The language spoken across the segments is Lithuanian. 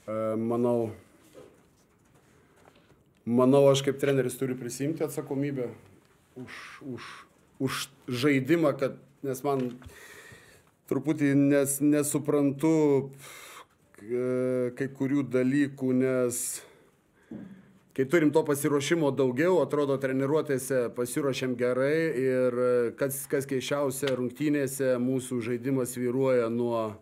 Manau, aš kaip treneris turiu prisimti atsakomybę už žaidimą, nes man truputį nesuprantu kai kurių dalykų, nes kai turim to pasiruošimo daugiau, atrodo treniruotėse pasiruošėm gerai ir kas keisčiausia, rungtynėse mūsų žaidimas vyruoja nuo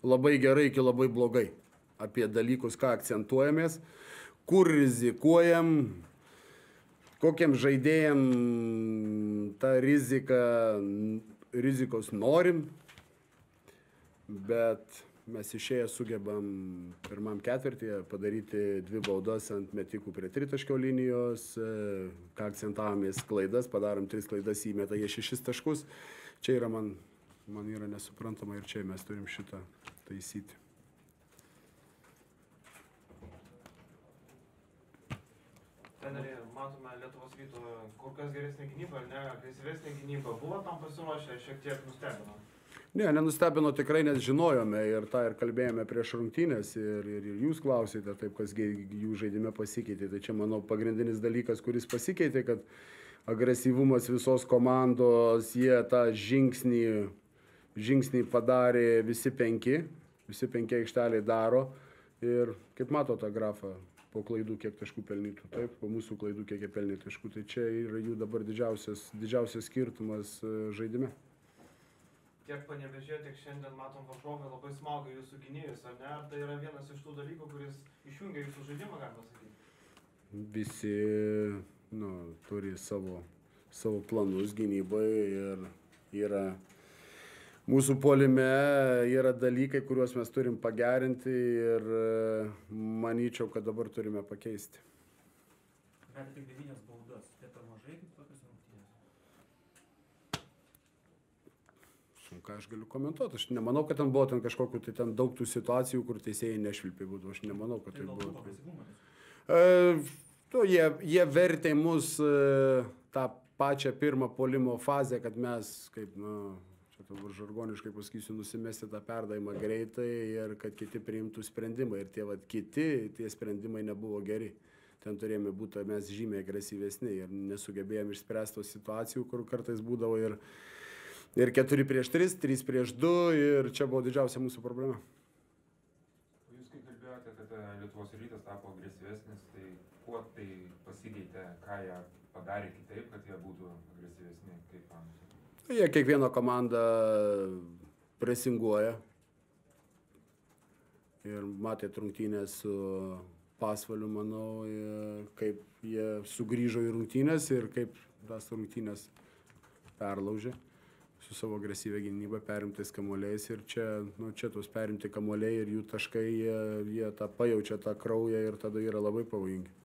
labai gerai iki labai blogai. Apie dalykus, ką akcentuojamės, kur rizikuojam, kokiam žaidėjam tą rizikos norim, bet mes išėję sugebam pirmam ketvirtyje padaryti 2 baudas ant metikų prie tritaškio linijos, ką akcentavomės klaidas, padarom 3 klaidas, įmeta jie 6 taškus. Čia yra man yra nesuprantama ir čia mes turim šitą taisyti. Treneri, matome Lietuvos Ryto kur kas geresnė gynyba, ar ne, agresyvesnė gynyba. Buvo tam pasiruošę, šiek tiek nustebino? Ne, nenustebino tikrai, nes žinojome ir tą ir kalbėjome prieš rungtynės ir jūs klausėte taip, kas jų žaidime pasikeitė. Tai čia, manau, pagrindinis dalykas, kuris pasikeitė, kad agresyvumas visos komandos, jie tą žingsnį padarė visi 5 aikšteliai daro ir kaip mato tą grafą, po klaidų kiek taškų pelnytų, taip, po mūsų klaidų kiek jie pelnė taškų, tai čia yra jų dabar didžiausias skirtumas žaidime. Tiek Panevėžyje, tiek šiandien matom varžovai labai smaugia jūsų gynėjus, ar ne? Ar tai yra vienas iš tų dalykų, kuris išjungia jūsų žaidimą, galima sakyti? Visi turi savo planus gynybai ir yra mūsų puolime yra dalykai, kuriuos mes turim pagerinti ir manyčiau, kad dabar turime pakeisti. Bet tik 9 baudas, tai per mažai kaip tokios rungtynės? Ką aš galiu komentuoti, aš nemanau, kad ten buvo kažkokių, tai ten daug tų situacijų, kur teisėjai nešvilpė būtų, aš nemanau, kad tai buvo. Jie vertė mus tą pačią pirmą puolimo fazę, kad mes, kaip, čia dabar žargoniškai pasakysiu, nusimesti tą perdavimą greitai ir kad kiti priimtų sprendimą. Ir tie sprendimai nebuvo geri. Ten turėjome būti mes žymiai agresyvesni ir nesugebėjome išspręsti tos situacijų, kur kartais būdavo ir 4-3, 3-2 ir čia buvo didžiausia mūsų problema. Jūs kaip kalbėjote, kad Lietuvos Rytas tapo agresyvesnis, tai kuo tai pasikeitė, ką jie padarė kitaip, kad jie būtų agresyvesni, kaip panašiai? Jie kiekvieną komandą presinguoja ir matėt rungtynės su Pasvaliu, manau, kaip jie sugrįžo į rungtynės ir kaip tas rungtynės perlaužė su savo agresyvia gynyba, perimtais kamuoliais ir čia tos perimti kamuoliai ir jų taškai, jie tą pajaučia tą kraują ir tada yra labai pavojingi.